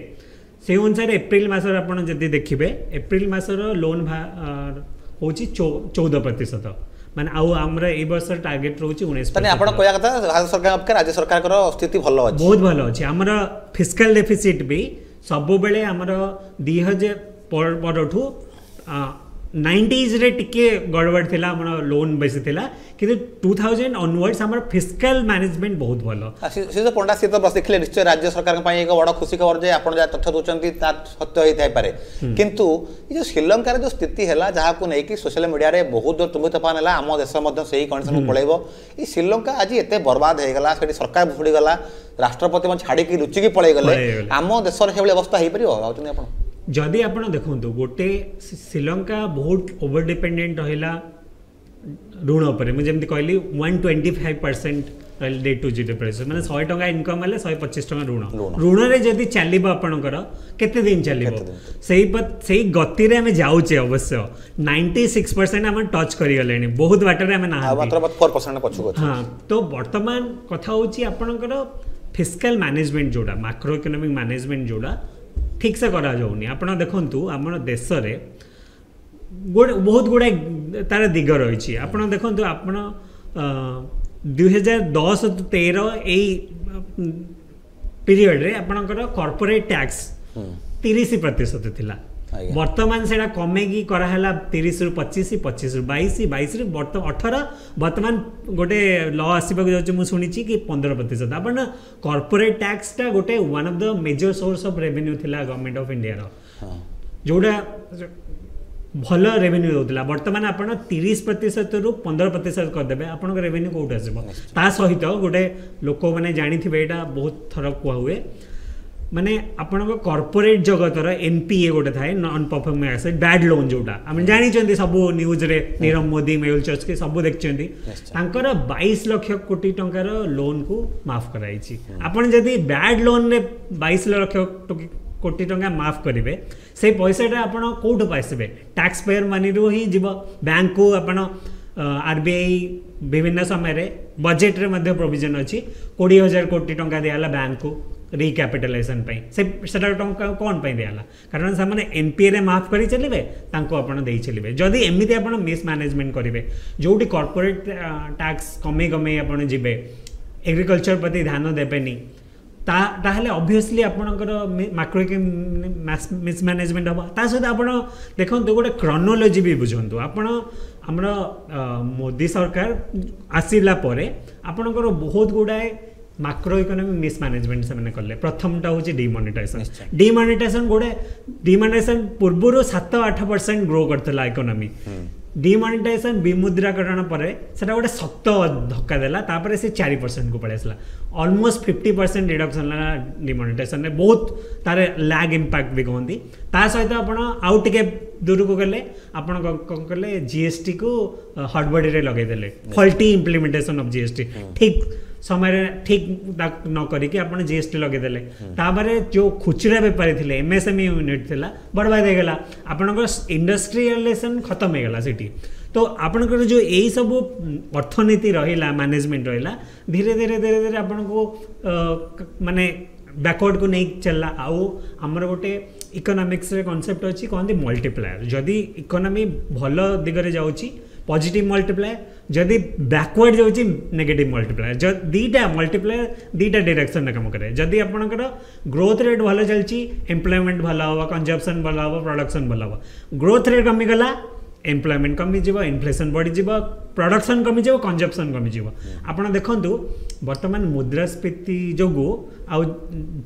S2: ସେଇ ଅନୁସାରେ ଏପ୍ରିଲ ମାସରେ ଆପଣ ଯଦି ଦେଖିବେ ଏପ୍ରିଲ ମାସର ଲୋନ୍ ହେଉଛି ଚଉଦ ପ୍ରତିଶତ ମାନେ ଆଉ ଆମର ଏଇ ବର୍ଷର ଟାର୍ଗେଟ ରହୁଛି ଉଣେଇଶ
S1: ତାହେଲେ ଆପଣ କହିବା କଥା ଭାରତ ସରକାରଙ୍କ ଅପେକ୍ଷା ରାଜ୍ୟ ସରକାରଙ୍କର ସ୍ଥିତି ଭଲ ଅଛି
S2: ବହୁତ ଭଲ ଅଛି ଆମର ଫିସ୍କାଲ ଡେଫିସିଟ୍ ବି ସବୁବେଳେ ଆମର ଦୁଇ ହଜାର ପରଠୁ ନାଇଣ୍ଟିଜରେ ଟିକେ ଗଡ଼ବଡ଼ ଥିଲା ଆମର ଲୋନ୍ ବେଶୀ ଥିଲା କିନ୍ତୁ ଟୁ ଥାଉଜେଣ୍ଡ ଅନୱାର୍ଡସ୍ ଆମର ଫିସ୍କାଲ ମ୍ୟାନେଜମେଣ୍ଟ ବହୁତ ଭଲ
S1: ସେ ତ ପଣ୍ଡା ସିଏ ତ ଦେଖିଲେ ନିଶ୍ଚୟ ରାଜ୍ୟ ସରକାରଙ୍କ ପାଇଁ ଏକ ବଡ଼ ଖୁସି ଖବର ଯେ ଆପଣ ଯାହା ତଥ୍ୟ ଦେଉଛନ୍ତି ତା ସତ୍ୟ ହେଇଥାଇପାରେ କିନ୍ତୁ ଏ ଯେଉଁ ଶ୍ରୀଲଙ୍କାରେ ଯେଉଁ ସ୍ଥିତି ହେଲା ଯାହାକୁ ନେଇକି ସୋସିଆଲ ମିଡ଼ିଆରେ ବହୁତ ତୁମ୍ଭି ତୋଫାନ ହେଲା ଆମ ଦେଶ ମଧ୍ୟ ସେଇ କଣ୍ଡିସନକୁ ପଳେଇବ ଏଇ ଶ୍ରୀଲଙ୍କା ଆଜି ଏତେ ବର୍ବାଦ ହେଇଗଲା ସେଠି ସରକାର ଭୁଷୁଡ଼ିଗଲା ରାଷ୍ଟ୍ରପତି ଛାଡ଼ିକି ଲୁଚିକି ପଳେଇଗଲେ ଆମ ଦେଶରେ ସେଭଳି ଅବସ୍ଥା ହେଇପାରିବ ଭାବୁଛନ୍ତି ଆପଣ
S2: ଯଦି ଆପଣ ଦେଖନ୍ତୁ ଗୋଟେ ଶ୍ରୀଲଙ୍କା ବହୁତ ଓଭର ଡିପେଣ୍ଡେଣ୍ଟ ରହିଲା ଋଣ ଉପରେ ମୁଁ ଯେମିତି କହିଲି ୱାନ୍ ଟ୍ୱେଣ୍ଟି ଫାଇଭ୍ ପରସେଣ୍ଟ ରହିଲା date to G D P ମାନେ ଶହେ ଟଙ୍କା ଇନକମ୍ ହେଲେ ଶହେ ପଚିଶ ଟଙ୍କା ଋଣ ଋଣରେ ଯଦି ଚାଲିବ ଆପଣଙ୍କର କେତେ ଦିନ ଚାଲିବ ସେଇ ସେଇ ଗତିରେ ଆମେ ଯାଉଛେ ଅବଶ୍ୟ ନାଇଣ୍ଟି ସିକ୍ସ ପରସେଣ୍ଟ ଆମେ ଟଚ୍ କରିଗଲେଣି ବହୁତ ବାଟରେ ଆମେ ନାହାନ୍ତି ହଁ ତ ବର୍ତ୍ତମାନ କଥା ହେଉଛି ଆପଣଙ୍କର ଫିସ୍କାଲ ମ୍ୟାନେଜମେଣ୍ଟ ଯେଉଁଟା ମାକ୍ରୋ ଇକୋନୋମିକ୍ ମ୍ୟାନେଜମେଣ୍ଟ ଯେଉଁଟା ଠିକ୍ସେ କରାଯାଉନି ଆପଣ ଦେଖନ୍ତୁ ଆମ ଦେଶରେ ଗୋଟେ ବହୁତ ଗୁଡ଼ାଏ ତାର ଦିଗ ରହିଛି ଆପଣ ଦେଖନ୍ତୁ ଆପଣ ଦୁଇ ହଜାର ଦଶ ତେର ଏଇ ପିରିୟଡ଼ରେ ଆପଣଙ୍କର କର୍ପୋରେଟ୍ ଟ୍ୟାକ୍ସ ତିରିଶ ପ୍ରତିଶତ ଥିଲା ବର୍ତ୍ତମାନ ସେଇଟା କମେଇକି କରାହେଲା ତିରିଶରୁ ପଚିଶ ପଚିଶରୁ ବାଇଶ ବାଇଶରୁ ବର୍ତ୍ତମାନ ଅଠର ବର୍ତ୍ତମାନ ଗୋଟେ ଲ ଆସିବାକୁ ଯାଉଛି ମୁଁ ଶୁଣିଛି କି ପନ୍ଦର ପ୍ରତିଶତ ଆପଣ କର୍ପୋରେଟ୍ ଟ୍ୟାକ୍ସଟା ଗୋଟେ one of the major source of revenue ଥିଲା ଗଭର୍ଣ୍ଣମେଣ୍ଟ ଅଫ୍ ଇଣ୍ଡିଆର ଯେଉଁଟା ଭଲ ରେଭିନ୍ୟୁ ଦେଉଥିଲା ବର୍ତ୍ତମାନ ଆପଣ ତିରିଶ ପ୍ରତିଶତରୁ ପନ୍ଦର ପ୍ରତିଶତ କରିଦେବେ ଆପଣଙ୍କ ରେଭିନ୍ୟୁ କେଉଁଠୁ ଆସିବ ତା ସହିତ ଗୋଟେ ଲୋକମାନେ ଜାଣିଥିବେ ଏଇଟା ବହୁତ ଥର କୁହା ହୁଏ ମାନେ ଆପଣଙ୍କ କର୍ପୋରେଟ୍ ଜଗତର ଏନ୍ ପି ଏ ଗୋଟେ ଥାଏ non performing asset bad loan ଯେଉଁଟା ଆମେ ଜାଣିଛନ୍ତି ସବୁ ନ୍ୟୁଜ୍ରେ ନୀରବ ମୋଦି ମେହୁଲ ଚୋକ୍ସି ସବୁ ଦେଖିଛନ୍ତି ତାଙ୍କର ବାଇଶ ଲକ୍ଷ କୋଟି ଟଙ୍କାର ଲୋନ୍କୁ ମାଫ କରାଯାଇଛି ଆପଣ ଯଦି ବ୍ୟାଡ୍ ଲୋନ୍ରେ ବାଇଶ ଲକ୍ଷ କୋଟି ଟଙ୍କା ମାଫ କରିବେ ସେଇ ପଇସାଟା ଆପଣ କେଉଁଠୁ ପାଇସିବେ ଟ୍ୟାକ୍ସ ପେୟର ମନିରୁ ହିଁ ଯିବ ବ୍ୟାଙ୍କକୁ ଆପଣ ଆର୍ ବି I ବିଭିନ୍ନ ସମୟରେ ବଜେଟ୍ରେ ମଧ୍ୟ ପ୍ରୋଭିଜନ୍ ଅଛି କୋଡ଼ିଏ ହଜାର କୋଟି ଟଙ୍କା ଦିଆହେଲା ବ୍ୟାଙ୍କକୁ ରିକ୍ୟାପିଟାଲାଇଜେସନ୍ ପାଇଁ ସେ ସେଟା ଟଙ୍କା କ'ଣ ପାଇଁ ଦିଆହେଲା କାରଣ ସେମାନେ ଏନ୍ ପି ଏରେ ମାଫ କରି ଚାଲିବେ ତାଙ୍କୁ ଆପଣ ଦେଇ ଚାଲିବେ ଯଦି ଏମିତି ଆପଣ ମିସ୍ମ୍ୟାନେଜମେଣ୍ଟ କରିବେ ଯେଉଁଠି କର୍ପୋରେଟ୍ ଟ୍ୟାକ୍ସ କମେଇ କମେଇ ଆପଣ ଯିବେ ଏଗ୍ରିକଲଚର ପ୍ରତି ଧ୍ୟାନ ଦେବେନି ତା ତାହେଲେ ଅବଭିୟସଲି ଆପଣଙ୍କର ମାକ୍ରୋ ମିସ୍ମ୍ୟାନେଜମେଣ୍ଟ ହେବ ତା ସହିତ ଆପଣ ଦେଖନ୍ତୁ ଗୋଟେ କ୍ରନୋଲୋଜି ବି ବୁଝନ୍ତୁ ଆପଣ ଆମର ମୋଦି ସରକାର ଆସିଲା ପରେ ଆପଣଙ୍କର ବହୁତ ଗୁଡ଼ାଏ ମାକ୍ରୋ ଇକୋନୋମିକ୍ ମିସ୍ମ୍ୟାନେଜମେଣ୍ଟ ସେମାନେ କଲେ ପ୍ରଥମଟା ହେଉଛି ଡିମନିଟାଇଜେସନ୍ ଡିମନିଟାଇଜେସନ୍ ଗୋଟେ ଡିମନିଟାଇଜେସନ୍ ପୂର୍ବରୁ ସାତ ଆଠ ପରସେଣ୍ଟ ଗ୍ରୋ କରିଥିଲା ଇକୋନୋମି ଡିମନିଟାଇଜେସନ୍ ବିମୁଦ୍ରାକରଣ ପରେ ସେଟା ଗୋଟେ ଶକ୍ତ ଧକ୍କା ଦେଲା ତାପରେ ସେ ଚାରି ପରସେଣ୍ଟକୁ ପଳେଇ ଆସିଲା ଅଲମୋଷ୍ଟ ଫିଫ୍ଟି ପରସେଣ୍ଟ ରିଡକ୍ସନ୍ ହେଲା ଡିମନିଟାଇଜେସନ୍ରେ ବହୁତ ତାର ଲ୍ୟାଗ୍ ଇମ୍ପାକ୍ଟ ବି କହନ୍ତି ତା ସହିତ ଆପଣ ଆଉ ଟିକେ ଦୂରକୁ ଗଲେ ଆପଣ କ'ଣ କଲେ ଜିଏସ୍ଟିକୁ ହଡ଼ବଡ଼ିରେ ଲଗେଇଦେଲେ ଫଲ୍ଟି ଇମ୍ପ୍ଲିମେଣ୍ଟେସନ୍ ଅଫ୍ ଜିଏସ୍ଟି ଠିକ୍ ସମୟରେ ଠିକ୍ ନ କରିକି ଆପଣ ଜିଏସ୍ଟି ଲଗେଇଦେଲେ ତାପରେ ଯେଉଁ ଖୁଚୁରା ବେପାରୀ ଥିଲେ ଏମ୍ଏସ୍ଏମ୍ଇ ୟୁନିଟ୍ ଥିଲା ବର୍ବାଦ ହେଇଗଲା ଆପଣଙ୍କର ଇଣ୍ଡଷ୍ଟ୍ରିଆଲାଇଜେସନ୍ ଖତମ ହେଇଗଲା ସେଠି ତ ଆପଣଙ୍କର ଯେଉଁ ଏଇସବୁ ଅର୍ଥନୀତି ରହିଲା ମ୍ୟାନେଜମେଣ୍ଟ ରହିଲା ଧୀରେ ଧୀରେ ଧୀରେ ଧୀରେ ଆପଣଙ୍କୁ ମାନେ ବ୍ୟାକୱାର୍ଡ଼କୁ ନେଇକି ଚାଲିଲା ଆଉ ଆମର ଗୋଟେ ଇକୋନୋମିକ୍ସରେ କନସେପ୍ଟ ଅଛି କହନ୍ତି ମଲ୍ଟିପ୍ଲାୟର ଯଦି ଇକୋନୋମି ଭଲ ଦିଗରେ ଯାଉଛି ପଜିଟିଭ୍ ମଲ୍ଟିପ୍ଲାୟର ଯଦି ବ୍ୟାକୱାର୍ଡ଼ ଯାଉଛି ନେଗେଟିଭ୍ ମଲ୍ଟିପ୍ଲାୟର ଦୁଇଟା ମଲ୍ଟିପ୍ଲାୟର ଦୁଇଟା ଡିରେକ୍ସନରେ କାମ କରେ ଯଦି ଆପଣଙ୍କର ଗ୍ରୋଥ୍ ରେଟ୍ ଭଲ ଚାଲିଛି ଏମ୍ପ୍ଲୟମେଣ୍ଟ ଭଲ ହେବ କନଜମ୍ପସନ୍ ଭଲ ହେବ ପ୍ରଡକ୍ସନ୍ ଭଲ ହେବ ଗ୍ରୋଥ୍ ରେଟ୍ କମିଗଲା ଏମ୍ପ୍ଲୟମେଣ୍ଟ କମିଯିବ ଇନଫ୍ଲେସନ୍ ବଢ଼ିଯିବ ପ୍ରଡକ୍ସନ୍ କମିଯିବ କନଜମ୍ପସନ୍ କମିଯିବ ଆପଣ ଦେଖନ୍ତୁ ବର୍ତ୍ତମାନ ମୁଦ୍ରାସ୍ଫୀତି ଯୋଗୁଁ ଆଉ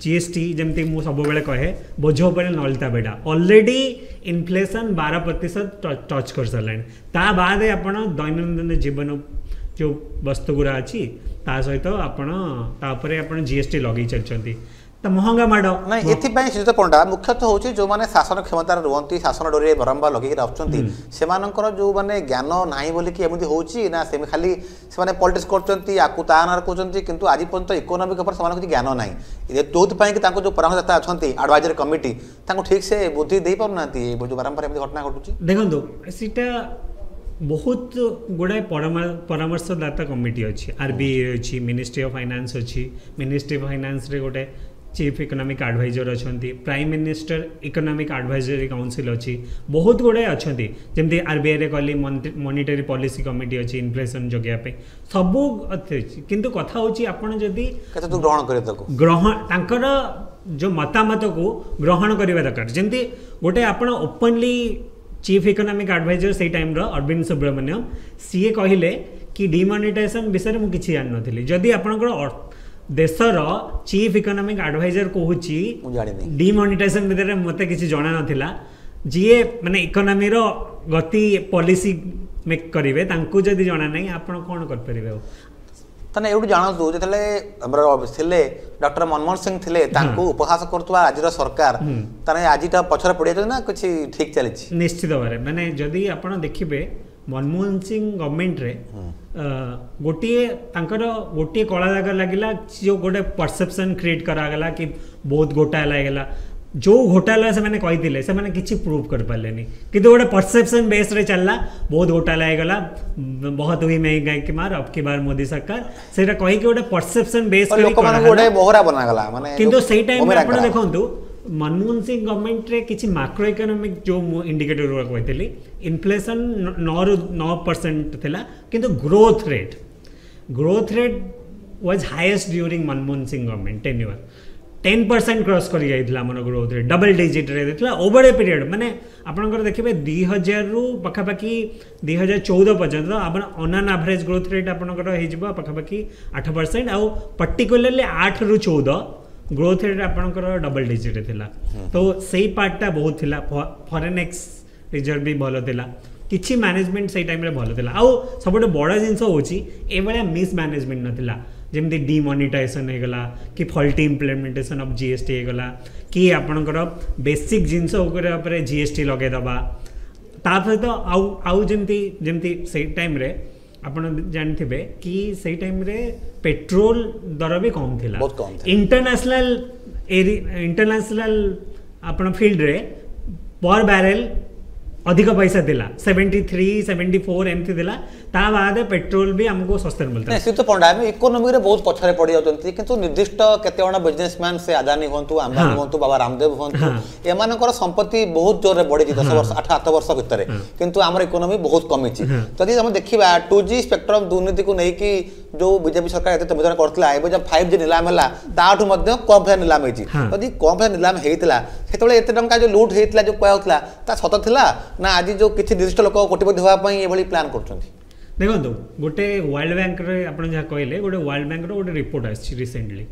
S2: ଜି ଏସ୍ ଟି ଯେମିତି ମୁଁ ସବୁବେଳେ କହେ ବୋଝ ଉପରେ ନଳିତା ବେଡ଼ା ଅଲରେଡ଼ି ଇନଫ୍ଲେସନ୍ ବାର ପ୍ରତିଶତ ଟଚ୍ କରିସାରିଲାଣି ତା ବାଦେ ଆପଣ ଦୈନନ୍ଦିନ ଜୀବନ ଯେଉଁ ବସ୍ତୁ ଗୁଡ଼ା ଅଛି ତା ସହିତ ଆପଣ ତା ଉପରେ ଆପଣ ଜି ଏସ୍ ଟି ଲଗେଇ ଚାଲିଛନ୍ତି ତ ମହଙ୍ଗା ମାଡ଼
S1: ନାଇଁ ଏଥିପାଇଁ ଶ୍ରୀଯୁକ୍ତ ପଣ୍ଡା ମୁଖ୍ୟତଃ ହେଉଛି ଯେଉଁମାନେ ଶାସନ କ୍ଷମତାରେ ରୁହନ୍ତି ଶାସନ ଡୋରିରେ ବାରମ୍ବାର ଲଗେଇକି ଆସୁଛନ୍ତି ସେମାନଙ୍କର ଯେଉଁମାନେ ଜ୍ଞାନ ନାହିଁ ବୋଲିକି ଏମିତି ହେଉଛି ନା ସେ ଖାଲି ସେମାନେ ପଲିଟିକ୍ସ କରୁଛନ୍ତି ଆକୁ ତା ନାଁରେ କହୁଛନ୍ତି କିନ୍ତୁ ଆଜି ପର୍ଯ୍ୟନ୍ତ ଇକୋନୋମିକ୍ ଉପରେ ସେମାନଙ୍କୁ କିଛି ଜ୍ଞାନ ନାହିଁ ଯେଉଁଥିପାଇଁ କି ତାଙ୍କୁ ଯେଉଁ ପରାମର୍ଶଦାତା ଅଛନ୍ତି ଆଡ଼ଭାଇଜରୀ କମିଟି ତାଙ୍କୁ ଠିକ୍ ସେ ବୁଦ୍ଧି ଦେଇପାରୁନାହାନ୍ତି ଯେଉଁ ବାରମ୍ବାର ଏମିତି ଘଟଣା ଘଟୁଛି
S2: ଦେଖନ୍ତୁ ସେଇଟା ବହୁତ ଗୁଡ଼ାଏ ପରାମର୍ଶଦାତା କମିଟି ଅଛି ଆର୍ ବି I ଅଛି ମିନିଷ୍ଟ୍ରି ଅଫ୍ ଫାଇନାନ୍ସ ଅଛି ମିନିଷ୍ଟ୍ରି ଅଫ୍ ଫାଇନାନ୍ସରେ ଗୋଟେ ଚିଫ୍ ଇକୋନୋମିକ୍ ଆଡ଼ଭାଇଜର ଅଛନ୍ତି Prime Minister Economic Advisory Council ଅଛି ବହୁତ ଗୁଡ଼ାଏ ଅଛନ୍ତି ଯେମିତି ଆର୍ ବି ଆଇରେ କହିଲି ମନିଟାରୀ ପଲିସି କମିଟି ଅଛି ଇନଫ୍ଲେସନ୍ ଜଗିବା ପାଇଁ ସବୁ ଅଛି କିନ୍ତୁ କଥା ହେଉଛି ଆପଣ ଯଦି
S1: କେତେ ଗ୍ରହଣ କରିବେ ତାକୁ
S2: ଗ୍ରହଣ ତାଙ୍କର ଯେଉଁ ମତାମତକୁ ଗ୍ରହଣ କରିବା ଦରକାର ଯେମିତି ଗୋଟେ ଆପଣ ଓପନଲି ଚିଫ୍ ଇକୋନୋମିକ୍ ଆଡ଼ଭାଇଜର ସେଇ ଟାଇମ୍ର ଅରବିନ୍ଦ ସୁବ୍ରମଣ୍ୟମ ସିଏ କହିଲେ କି ଡିମନିଟାଇଜେସନ୍ ବିଷୟରେ ମୁଁ କିଛି ଜାଣିନଥିଲି ଯଦି ଆପଣଙ୍କର ଦେଶର ଚିଫ୍ ଇକୋନୋମିକ୍ ଆଡ଼ଭାଇଜର କହୁଛି ଡିମନିଟାଇଜେସନ୍ ଭିତରେ ମୋତେ କିଛି ଜଣା ନଥିଲା ଯିଏ ମାନେ ଇକୋନୋମିର ଗତି ପଲିସି ମେକ୍ କରିବେ ତାଙ୍କୁ ଯଦି ଜଣା ନାହିଁ ଆପଣ କ'ଣ କରିପାରିବେ ଆଉ
S1: ତାହେଲେ ଏଇଠୁ ଜାଣନ୍ତୁ ଯେତେବେଳେ ଆମର ଥିଲେ ଡକ୍ଟର ମନମୋହନ ସିଂ ଥିଲେ ତାଙ୍କୁ ଉପହାସ କରୁଥିବା ଆଜିର ସରକାର ତାହେଲେ ଆଜିଟା ପଛରେ ପଡ଼ିଯାଇଛନ୍ତି ନା କିଛି ଠିକ୍ ଚାଲିଛି
S2: ନିଶ୍ଚିତ ଭାବରେ ମାନେ ଯଦି ଆପଣ ଦେଖିବେ ମନମୋହନ ସିଂ ଗଭର୍ଣ୍ଣମେଣ୍ଟରେ ଗୋଟିଏ ତାଙ୍କର ଗୋଟିଏ କଳା ଦାଗ ଲାଗିଲା ଯେଉଁ ଗୋଟେ ପରସେପସନ୍ କ୍ରିଏଟ୍ କରାଗଲା କି ବହୁତ ଘୋଟାଲା ହେଇଗଲା ଯେଉଁ ଘୋଟାଲା ସେମାନେ କହିଥିଲେ ସେମାନେ କିଛି ପ୍ରୁଭ୍ କରିପାରିଲେନି କିନ୍ତୁ ଗୋଟେ ପରସେପସନ୍ ବେସ୍ରେ ଚାଲିଲା ବହୁତ ଘୋଟାଲା ହେଇଗଲା बहुत हुई महंगाई की मार अब की बार मोदी सरकार ସେଇଟା କହିକି ଗୋଟେ ପରସେପସନ୍ ବେସ୍
S1: ଲୋକମାନଙ୍କୁ ଗୋଟେ ବୋହରା ବନାଗଲା ମାନେ
S2: କିନ୍ତୁ ସେଇ ଟାଇମ୍ରେ ଆପଣ ଦେଖନ୍ତୁ ମନମୋହନ ସିଂ ଗଭର୍ଣ୍ଣମେଣ୍ଟରେ କିଛି ମାକ୍ରୋ ଇକୋନୋମିକ୍ ଯେଉଁ ମୁଁ ଇଣ୍ଡିକେଟର ଗୁଡ଼ା କହିଥିଲି ଇନଫ୍ଲେସନ୍ ନଅରୁ ନଅ ପରସେଣ୍ଟ ଥିଲା କିନ୍ତୁ growth rate growth rate was highest during Manmohan Singh government tenure ten percent cross କରି ଯାଇଥିଲା ଆମର ଗ୍ରୋଥ୍ ରେଟ୍ ଡବଲ୍ ଡିଜିଟ୍ରେ ଦେଇଥିଲା ଓଭର ଏ ପିରିୟଡ଼ ମାନେ ଆପଣଙ୍କର ଦେଖିବେ ଦୁଇ ହଜାରରୁ ପାଖାପାଖି ଦୁଇ ହଜାର ଚଉଦ ପର୍ଯ୍ୟନ୍ତ ଆପଣ on an average growth rate ଆପଣଙ୍କର ହେଇଯିବ ପାଖାପାଖି ଆଠ ପରସେଣ୍ଟ ଆଉ ପର୍ଟିକୁଲାରଲି ଆଠରୁ ଚଉଦ ଗ୍ରୋଥ୍ ରେଟ୍ ଆପଣଙ୍କର ଡବଲ୍ ଡିଜିଟ୍ରେ ଥିଲା ତ ସେଇ ପାର୍ଟଟା ବହୁତ ଥିଲା ଫରେନ୍ ଏକ୍ସ ରିଜର୍ଭ ବି ଭଲ ଥିଲା କିଛି ମ୍ୟାନେଜମେଣ୍ଟ ସେଇ ଟାଇମ୍ରେ ଭଲ ଥିଲା ଆଉ ସବୁଠୁ ବଡ଼ ଜିନିଷ ହେଉଛି ଏଭଳିଆ ମିସ୍ ମ୍ୟାନେଜମେଣ୍ଟ ନଥିଲା ଯେମିତି ଡିମନିଟାଇଜେସନ୍ ହେଇଗଲା କି faulty implementation of G S T ହେଇଗଲା କି ଆପଣଙ୍କର ବେସିକ୍ ଜିନିଷ ଉପରେ ଉପରେ ଜି ଏସ୍ ଟି ଲଗେଇଦେବା ତା ସହିତ ଆଉ ଆଉ ଯେମିତି ଯେମିତି ସେଇ ଟାଇମ୍ରେ ଆପଣ ଜାଣିଥିବେ କି ସେଇ ଟାଇମ୍ରେ ପେଟ୍ରୋଲ ଦର ବି କମ୍ ଥିଲା ଇଣ୍ଟରନ୍ୟାସନାଲ ଏରି ଇଣ୍ଟରନ୍ୟାସନାଲ ଆପଣ ଫିଲ୍ଡରେ ପର୍ ବ୍ୟାରେଲ ଅଧିକ ପଇସା ଥିଲା ସେଭେଣ୍ଟି ଥ୍ରୀ ସେଭେଣ୍ଟି ଫୋର୍ ଏମିତି ଥିଲା ତା ବାଦେ ପେଟ୍ରୋଲ ବି ଆମକୁ ଶସ୍ତାରେ ମିଳିଥିଲା
S1: ଶ୍ରୀଯୁକ୍ତ ପଣ୍ଡା ଆମେ ଇକୋନୋମିରେ ବହୁତ ପଛରେ ପଡ଼ିଯାଉଛନ୍ତି କିନ୍ତୁ ନିର୍ଦ୍ଦିଷ୍ଟ କେତେ ଜଣ ବିଜନେସମ୍ୟାନ୍ ସେ ଆଦାନୀ ହୁଅନ୍ତୁ ଆମ୍ବାନୀ ହୁଅନ୍ତୁ ବାବା ରାମଦେବ ହୁଅନ୍ତୁ ଏମାନଙ୍କର ସମ୍ପତ୍ତି ବହୁତ ଜୋରରେ ବଢ଼ିଛି ଦଶ ବର୍ଷ ଆଠ ଆଠ ବର୍ଷ ଭିତରେ କିନ୍ତୁ ଆମର ଇକୋନୋମି ବହୁତ କମିଛି ଯଦି ଆମେ ଦେଖିବା ଟୁ ଜି ସ୍ପେକ୍ଟ୍ରମ୍ ଦୁର୍ନୀତିକୁ ନେଇକି ଯେଉଁ ବିଜେପି ସରକାର ଏତେ ତମଜନ କରିଥିଲା ଏବେ ଯେଉଁ ଫାଇଭ୍ ଜି ନିଲାମ ହେଲା ତାଠୁ ମଧ୍ୟ କମ୍ ପଇସା ନିଲାମ ହେଇଛି ଯଦି କମ୍ ପଇସା ନିଲାମ ହେଇଥିଲା ସେତେବେଳେ ଏତେ ଟଙ୍କା ଯେଉଁ ଲୁଟ୍ ହେଇଥିଲା ଯେଉଁ କୁହାଯାଉଥିଲା ତା ସତ ଥିଲା ନା ଆଜି ଯେଉଁ କିଛି ନିର୍ଦ୍ଦିଷ୍ଟ ଲୋକ କୋଟିପତି ହେବା ପାଇଁ ଏଭଳି ପ୍ଲାନ୍ କରୁଛନ୍ତି
S2: ଦେଖନ୍ତୁ ଗୋଟେ ୱାର୍ଲଡ ବ୍ୟାଙ୍କରେ ଆପଣ ଯାହା କହିଲେ ଗୋଟେ ୱାର୍ଲଡ ବ୍ୟାଙ୍କର ଗୋଟେ ରିପୋର୍ଟ ଆସିଛି ରିସେଣ୍ଟଲି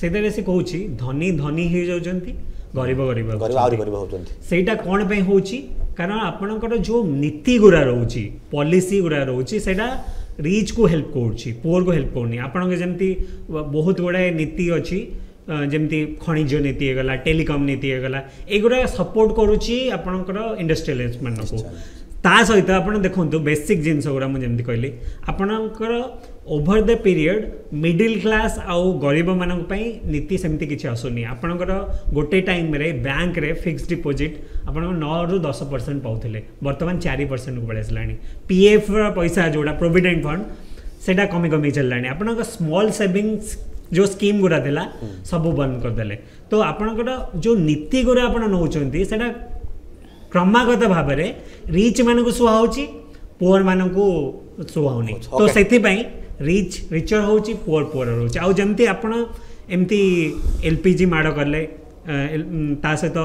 S2: ସେଥିରେ ସେ କହୁଛି ଧନୀ ଧନୀ ହେଇଯାଉଛନ୍ତି ଗରିବ ଗରିବ
S1: ଗରିବ ଆହୁରି ଗରିବ ହେଉଛନ୍ତି
S2: ସେଇଟା କ'ଣ ପାଇଁ ହେଉଛି କାରଣ ଆପଣଙ୍କର ଯେଉଁ ନୀତି ଗୁଡ଼ା ରହୁଛି ପଲିସି ଗୁଡ଼ା ରହୁଛି ସେଇଟା ରିଚ୍କୁ ହେଲ୍ପ କରୁଛି ପୁଅରକୁ ହେଲ୍ପ କରୁନି ଆପଣଙ୍କ ଯେମିତି ବହୁତ ଗୁଡ଼ାଏ ନୀତି ଅଛି ଅ, ଯେମିତି ଖଣିଜ ନୀତି ହେଇଗଲା ଟେଲିକମ୍ ନୀତି ହେଇଗଲା ଏଗୁଡ଼ା ସପୋର୍ଟ କରୁଛି ଆପଣଙ୍କର ଇଣ୍ଡଷ୍ଟ୍ରିଆଲିଷ୍ଟ ମାନଙ୍କୁ ତା ସହିତ ଆପଣ ଦେଖନ୍ତୁ ବେସିକ୍ ଜିନିଷ ଗୁଡ଼ା ମୁଁ ଯେମିତି କହିଲି ଆପଣଙ୍କର over the period middle class ଆଉ ଗରିବମାନଙ୍କ ପାଇଁ ନୀତି ସେମିତି କିଛି ଆସୁନି ଆପଣଙ୍କର ଗୋଟେ ଟାଇମ୍ରେ ବ୍ୟାଙ୍କରେ ଫିକ୍ସଡ ଡିପୋଜିଟ୍ ଆପଣଙ୍କ ନଅରୁ ଦଶ ପରସେଣ୍ଟ ପାଉଥିଲେ ବର୍ତ୍ତମାନ ଚାରି ପରସେଣ୍ଟକୁ ପଳେଇ ଆସିଲାଣି ପିଏଫ୍ର ପଇସା ଯେଉଁଟା ପ୍ରୋଭିଡେଣ୍ଟ ଫଣ୍ଡ ସେଇଟା କମି କମି ଚାଲିଲାଣି ଆପଣଙ୍କ ସ୍ମଲ୍ ସେଭିଙ୍ଗସ୍ ଯେଉଁ ସ୍କିମ୍ ଗୁଡ଼ା ଥିଲା ସବୁ ବନ୍ଦ କରିଦେଲେ ତ ଆପଣଙ୍କର ଯେଉଁ ନୀତି ଗୁଡ଼ା ଆପଣ ନେଉଛନ୍ତି ସେଇଟା କ୍ରମାଗତ ଭାବରେ ରିଚ୍ ମାନଙ୍କୁ ସୁହାଉଛି ପୁଅର ମାନଙ୍କୁ ସୁହାଉନି ତ
S1: Okay.
S2: ସେଥିପାଇଁ ରିଚ୍ ରିଚର ହେଉଛି ପୁଅର ପୁଅର ରହୁଛି ଆଉ ଯେମିତି ଆପଣ ଏମିତି ଏଲ୍ ପି ଜି ମାଡ଼ କଲେ ଅ, ଏଲ- ଉଁ, ତା ସହିତ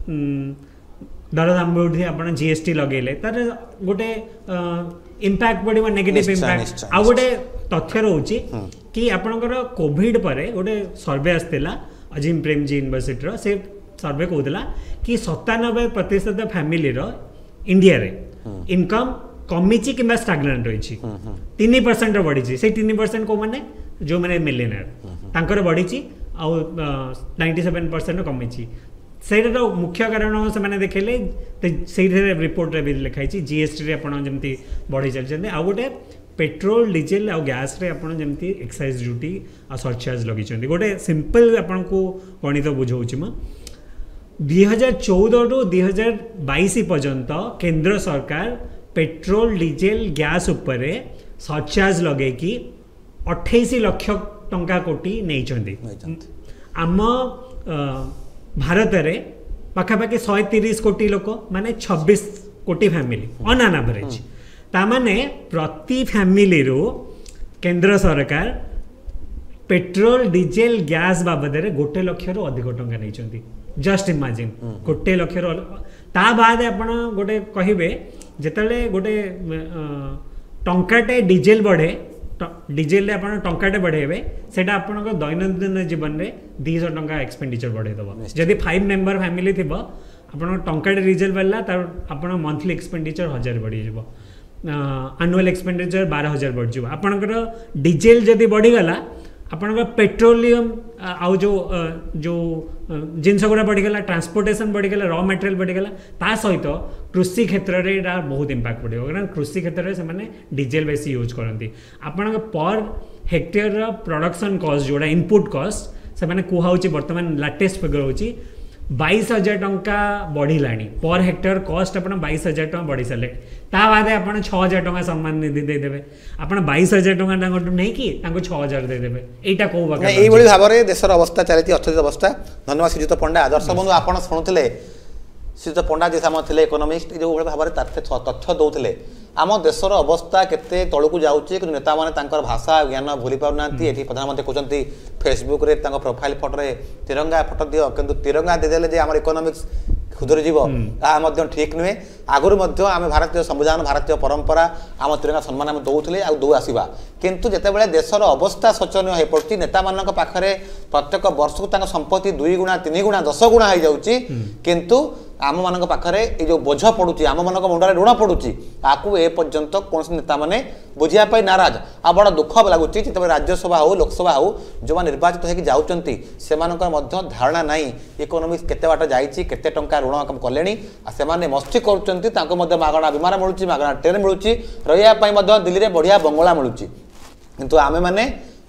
S2: ଉଁ, ଦରଦାମ ବୃଦ୍ଧି ଆପଣ ଜି ଏସ୍ ଟି ଲଗେଇଲେ ତାର ଗୋଟେ ଇମ୍ପାକ୍ଟ ପଡ଼ିବ ନେଗେଟିଭ୍
S1: ନିଶ୍ଚୟ,
S2: ଇମ୍ପାକ୍ଟ
S1: ନିଶ୍ଚୟ,
S2: ଆଉ ଗୋଟେ ତଥ୍ୟ ରହୁଛି କି ଆପଣଙ୍କର କୋଭିଡ ପରେ ଗୋଟେ ସର୍ଭେ ଆସିଥିଲା ଅଜିମ ପ୍ରେମଜୀ ୟୁନିଭର୍ସିଟିର ସେ ସର୍ଭେ କହୁଥିଲା କି ସତାନବେ ପ୍ରତିଶତ ଫ୍ୟାମିଲିର ଇଣ୍ଡିଆରେ ଇନକମ୍ କମିଛି କିମ୍ବା ଷ୍ଟାଗନାଣ୍ଟ ରହିଛି ତିନି ପରସେଣ୍ଟର ବଢ଼ିଛି ସେଇ ତିନି ପରସେଣ୍ଟ କେଉଁମାନେ ଯେଉଁମାନେ ମିଲିୟନର ତାଙ୍କର ବଢ଼ିଛି ଆଉ ନାଇଣ୍ଟି ସେଭେନ୍ ପରସେଣ୍ଟ କମିଛି ସେଇଟାର ମୁଖ୍ୟ କାରଣ ସେମାନେ ଦେଖେଇଲେ ତ ସେଇଥିରେ ରିପୋର୍ଟରେ ବି ଲେଖା ହେଇଛି ଜିଏସ୍ଟିରେ ଆପଣ ଯେମିତି ବଢ଼େଇ ଚାଲିଛନ୍ତି ଆଉ ଗୋଟେ ପେଟ୍ରୋଲ ଡିଜେଲ ଆଉ ଗ୍ୟାସ୍ରେ ଆପଣ ଯେମିତି ଏକ୍ସାଇଜ୍ ଡ୍ୟୁଟି ଆଉ ସରଚାର୍ଜ ଲଗେଇଛନ୍ତି ଗୋଟେ ସିମ୍ପଲ୍ ଆପଣଙ୍କୁ ଗଣିତ ବୁଝାଉଛି ମୁଁ ଦୁଇ ହଜାର ଚଉଦରୁ ଦୁଇ ହଜାର ବାଇଶ ପର୍ଯ୍ୟନ୍ତ କେନ୍ଦ୍ର ସରକାର ପେଟ୍ରୋଲ ଡିଜେଲ ଗ୍ୟାସ୍ ଉପରେ ସରଚାର୍ଜ ଲଗେଇକି ଅଠେଇଶ ଲକ୍ଷ ଟଙ୍କା କୋଟି ନେଇଛନ୍ତି
S1: ନେଇଛନ୍ତି।
S2: ଆମ ଅ, ଭାରତରେ ପାଖାପାଖି ଶହେ ତିରିଶ କୋଟି ଲୋକ ମାନେ ଛବିଶ କୋଟି ଫ୍ୟାମିଲି ଅନ୍ ଆନ୍ ଆଭରେଜ ତାମାନେ ପ୍ରତି ଫ୍ୟାମିଲିରୁ କେନ୍ଦ୍ର ସରକାର ପେଟ୍ରୋଲ ଡିଜେଲ ଗ୍ୟାସ୍ ବାବଦରେ ଗୋଟେ ଲକ୍ଷରୁ ଅଧିକ ଟଙ୍କା ନେଇଛନ୍ତି ଜଷ୍ଟ ଇମାଜିନ୍ ଗୋଟେ ଲକ୍ଷରୁ ଅଲ- ତା ବାଦ ଆପଣ ଗୋଟେ କହିବେ ଯେତେବେଳେ ଗୋଟେ ଅ, ଟଙ୍କାଟେ ଡିଜେଲ ବଢ଼େ ଟ- ଡିଜେଲରେ ଆପଣ ଟଙ୍କାଟେ ବଢ଼େଇବେ ସେଇଟା ଆପଣଙ୍କ ଦୈନନ୍ଦିନ ଜୀବନରେ ଦୁଇଶହ ଟଙ୍କା ଏକ୍ସପେଣ୍ଡିଚର ବଢ଼େଇ ଦେବ ଯଦି ଫାଇଭ୍ ମେମ୍ବର ଫ୍ୟାମିଲି ଥିବ ଆପଣଙ୍କ ଟଙ୍କାଟେ ଡିଜେଲ ବଢ଼ିଲା ତାର ଆପଣ ମନ୍ଥଲି ଏକ୍ସପେଣ୍ଡିଚର ହଜାର ବଢ଼ିଯିବ ଆନୁଆଲ୍ ଏକ୍ସପେଣ୍ଡିଚର ବାର ହଜାର ବଢ଼ିଯିବ ଆପଣଙ୍କର ଡିଜେଲ ଯଦି ବଢ଼ିଗଲା ଆପଣଙ୍କ ପେଟ୍ରୋଲିୟମ ଆଉ ଯେଉଁ ଅ, ଯେଉଁ ଅ, ଜିନିଷ ଗୁଡ଼ା ବଢ଼ିଗଲା ଟ୍ରାନ୍ସପୋର୍ଟେସନ୍ ବଢ଼ିଗଲା ର ମେଟେରିଆଲ ବଢ଼ିଗଲା ତା ସହିତ କୃଷି କ୍ଷେତ୍ରରେ ଏଇଟା ବହୁତ ଇମ୍ପାକ୍ଟ ପଡ଼ିବ କାରଣ କୃଷି କ୍ଷେତ୍ରରେ ସେମାନେ ଡିଜେଲ ବେଶୀ ୟୁଜ୍ କରନ୍ତି ଆପଣଙ୍କ ପର୍ ହେକ୍ଟେୟରର ପ୍ରଡକ୍ସନ୍ କଷ୍ଟ ଯେଉଁଟା ଇନପୁଟ୍ କଷ୍ଟ ସେମାନେ କୁହାହେଉଛି ବର୍ତ୍ତମାନ ଲାଟେଷ୍ଟ ଫିଗର ହେଉଛି ବାଇଶ ହଜାର ଟଙ୍କା ବଢ଼ିଲାଣି ପର୍ ହେକ୍ଟର କଷ୍ଟ ଆପଣ ବାଇଶ ହଜାର ଟଙ୍କା ବଢ଼ି ସାରିଲେ ତା ବାଦେ ଆପଣ ଛଅ ହଜାର ଟଙ୍କା ସମ୍ମାନ ନିଧି ଦେଇଦେବେ ଆପଣ ବାଇଶ ହଜାର ଟଙ୍କା ତାଙ୍କଠୁ ନେଇକି ତାଙ୍କୁ ଛଅ ହଜାର ଦେଇଦେବେ ଏଇଟା କୋଉ
S1: ନା,
S2: ପ୍ରକାର
S1: ଏଇଭଳି ଭାବରେ ଦେଶର ଅବସ୍ଥା ଚାଲିଛି ଅର୍ଥନୈତିକ ଅବସ୍ଥା ଧନ୍ୟବାଦ ଶ୍ରୀଯୁକ୍ତ ପଣ୍ଡା ଦର୍ଶକ ବନ୍ଧୁ ଆପଣ ଶୁଣୁଥିଲେ ଶ୍ରୀଯୁକ୍ତ ପଣ୍ଡା ଯିଏ ଆମ ଥିଲେ ଇକୋନୋମିଷ୍ଟ ଯେଉଁଭଳି ଭାବରେ ତଥ୍ୟ ତଥ୍ୟ ଦେଉଥିଲେ ଆମ ଦେଶର ଅବସ୍ଥା କେତେ ତଳକୁ ଯାଉଛି କିନ୍ତୁ ନେତାମାନେ ତାଙ୍କର ଭାଷା ଜ୍ଞାନ ଭୁଲି ପାରୁନାହାନ୍ତି ଏଠି ପ୍ରଧାନମନ୍ତ୍ରୀ କହୁଛନ୍ତି ଫେସବୁକରେ ତାଙ୍କ ପ୍ରୋଫାଇଲ ଫଟୋରେ ତିରଙ୍ଗା ଫଟୋ ଦିଅ କିନ୍ତୁ ତିରଙ୍ଗା ଦେଇଦେଲେ ଯେ ଆମର ଇକୋନୋମିକ୍ସ ସୁଧୁରିଯିବ ତାହା ମଧ୍ୟ ଠିକ୍ ନୁହେଁ ଆଗରୁ ମଧ୍ୟ ଆମେ ଭାରତୀୟ ସମ୍ବିଧାନ ଭାରତୀୟ ପରମ୍ପରା ଆମ ତିରଙ୍ଗା ସମ୍ମାନ ଆମେ ଦେଉଥିଲେ ଆଉ ଦେଉ ଆସିବା କିନ୍ତୁ ଯେତେବେଳେ ଦେଶର ଅବସ୍ଥା ଶୋଚନୀୟ ହୋଇପଡ଼ୁଛି ନେତାମାନଙ୍କ ପାଖରେ ପ୍ରତ୍ୟେକ ବର୍ଷକୁ ତାଙ୍କ ସମ୍ପତ୍ତି ଦୁଇ ଗୁଣା ତିନି ଗୁଣା ଦଶ ଗୁଣା ହେଇଯାଉଛି କିନ୍ତୁ ଆମମାନଙ୍କ ପାଖରେ ଏଇ ଯେଉଁ ବୋଝ ପଡ଼ୁଛି ଆମମାନଙ୍କ ମୁଣ୍ଡରେ ଋଣ ପଡ଼ୁଛି ତାକୁ ଏ ପର୍ଯ୍ୟନ୍ତ କୌଣସି ନେତାମାନେ ବୁଝିବା ପାଇଁ ନାରାଜ ଆଉ ବଡ଼ ଦୁଃଖ ଲାଗୁଛି ଯେତେବେଳେ ରାଜ୍ୟସଭା ହଉ ଲୋକସଭା ହଉ ଯେଉଁମାନେ ନିର୍ବାଚିତ ହେଇକି ଯାଉଛନ୍ତି ସେମାନଙ୍କର ମଧ୍ୟ ଧାରଣା ନାହିଁ ଇକୋନୋମିକ୍ସ କେତେ ବାଟ ଯାଇଛି କେତେ ଟଙ୍କା ଋଣ କଲେଣି ଆଉ ସେମାନେ ମସ୍ତି କରୁଛନ୍ତି ତାଙ୍କୁ ମଧ୍ୟ ମାଗଣା ବିମାନ ମିଳୁଛି ମାଗଣା ଟ୍ରେନ୍ ମିଳୁଛି ରହିବା ପାଇଁ ମଧ୍ୟ ଦିଲ୍ଲୀରେ ବଢ଼ିଆ ବଙ୍ଗଳା ମିଳୁଛି କିନ୍ତୁ ଆମେମାନେ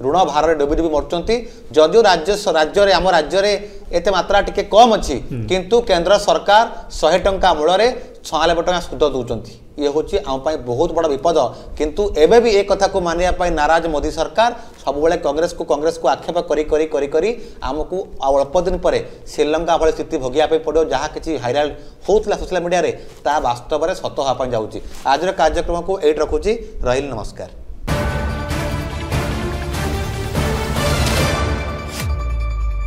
S1: ଋଣ ଭାରରେ ଡୁବି ଡୁବି ମରୁଛନ୍ତି ଯଦିଓ ରାଜ୍ୟ ରାଜ୍ୟରେ ଆମ ରାଜ୍ୟରେ ଏତେ ମାତ୍ରା ଟିକେ କମ୍ ଅଛି କିନ୍ତୁ କେନ୍ଦ୍ର ସରକାର ଶହେ ଟଙ୍କା ମୂଳରେ ଛୟାନବେ ଟଙ୍କା ସୁଧ ଦେଉଛନ୍ତି ଇଏ ହେଉଛି ଆମ ପାଇଁ ବହୁତ ବଡ଼ ବିପଦ କିନ୍ତୁ ଏବେ ବି ଏ କଥାକୁ ମାନିବା ପାଇଁ ନାରାଜ ମୋଦି ସରକାର ସବୁବେଳେ କଂଗ୍ରେସକୁ କଂଗ୍ରେସକୁ ଆକ୍ଷେପ କରି କରି କରି କରି ଆମକୁ ଆଉ ଅଳ୍ପ ଦିନ ପରେ ଶ୍ରୀଲଙ୍କା ଭଳି ସ୍ଥିତି ଭୋଗିବା ପାଇଁ ପଡ଼ିବ ଯାହା କିଛି ଭାଇରାଲ ହେଉଥିଲା ସୋସିଆଲ ମିଡ଼ିଆରେ ତାହା ବାସ୍ତବରେ ସତ ହେବା ପାଇଁ ଯାଉଛି ଆଜିର କାର୍ଯ୍ୟକ୍ରମକୁ ଏଇଠି ରଖୁଛି ରହିଲି ନମସ୍କାର